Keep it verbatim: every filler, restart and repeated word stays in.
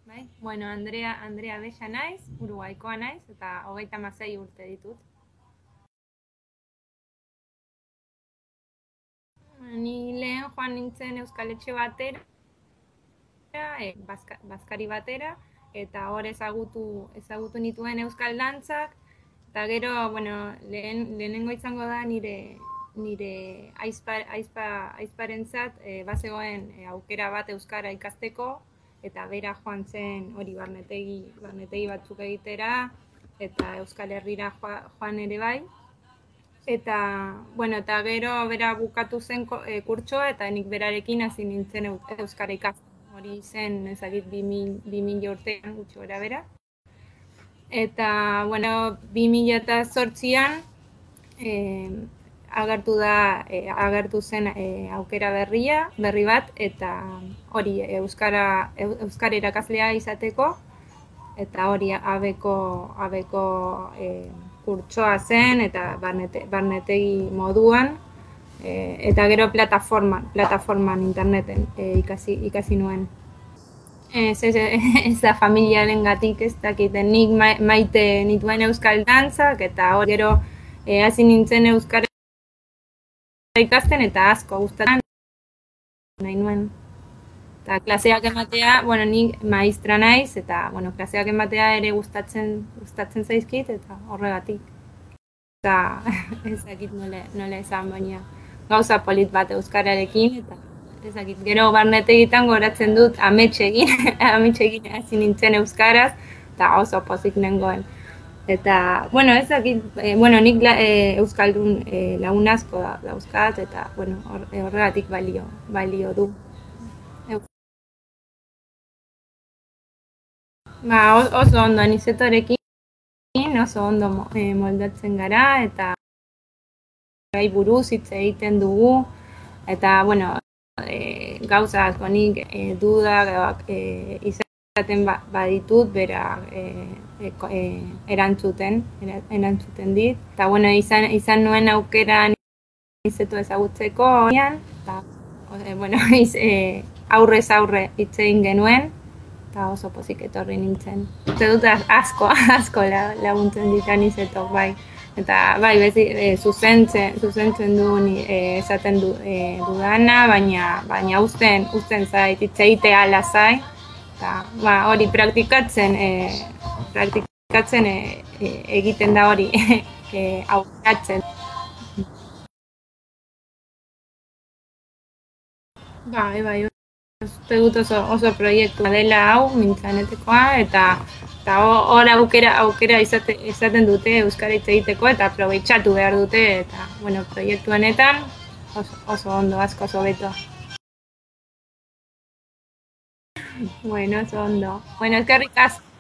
Bai? Bueno, Andrea, Andrea Bella naiz, Uruguaikoa naiz, eta hogeita hamasei urte ditut. Ni lehen joan nintzen Euskal Etxe batera, e, bazka, bazkari batera, eta hor ezagutu, ezagutu nituen Euskal Dantzak, eta gero, bueno, lehen, lehenengo izango da nire nire aizpa, aizpa, aizparentzat e, bazegoen e, aukera bat Euskara ikasteko, eta bera joan zen hori barnetegi, barnetegi batzuk egitera, eta Euskal Herrira joan ere bai. Eta, bueno, eta gero bera bukatu zen e, kurtsoa, eta nik berarekin hasi nintzen Euskara ikasten. Hori zen, ezagit, bi mila urtean gutxi gora bera. Eta, bueno, bi mila eta zortzian eh, agertu da, eh, agertu zen eh, aukera berria, berri bat, eta hori Euskara, Euskara irakaslea izateko, eta hori abeko, abeko eh, kurtsoa zen, eta barnete, barnetegi moduan, eh, eta gero plataforman, plataforman interneten eh, ikasi, ikasi nuen. Ez, ez, ez da familiaren gatik, ez dakiten nik maite nituen euskal dantzak, eta hori gero eh, hasi nintzen euskara ikasten, eta asko gustatzen nahi nuen. Eta klaseak ematea, bueno, nik maistra naiz, eta bueno, klaseak ematea ere gustatzen, gustatzen zaizkit, eta horregatik. Eta ez dakit nola, nola esan, baina gauza polit bat euskararekin, eta ezakit, gero barnetegitan goratzen dut ametsegin, ametsegin hasi nintzen euskaraz, eta oso pozik nengoen. Eta, bueno, ezakit, e, bueno, nik la, e, euskaldun e, lagun asko da, dauzkat, eta, bueno, horregatik balio, balio du. Ba, oso ondo, anizetorekin oso ondo e, moldatzen gara, eta gai buruz hitz egiten dugu, eta, bueno, E, gauza asko nik e, dudak e, izaten ba, baditut bera e, e, e, erantzuten, erantzuten dit. Eta bueno, izan, izan nuen aukera izetu ezagutzeko horian, eta e, bueno, iz, e, aurrez aurre hitz egin genuen, eta oso pozik etorri nintzen. Uste dut asko, asko laguntzen ditan izetok, bai. Eta bai, bezi, e, zuzentzen, zuzentzen du e, esaten du, e, dudana, baina baina uzten, uzten zait, itzeitea lasai. Eta ba, hori praktikatzen, e, praktikatzen e, e, egiten da hori, e, aukeratzen. Bai, bai, uste dut oso, oso proiektua dela hau, mintzanetekoa, eta eta hor aukera, aukera izate, izaten dute euskara hitz egiteko, eta aprobetxatu behar dute, eta, bueno, proiektu honetan oso, oso ondo, asko oso beto. Bueno, oso ondo. Bueno, eskerrik asko.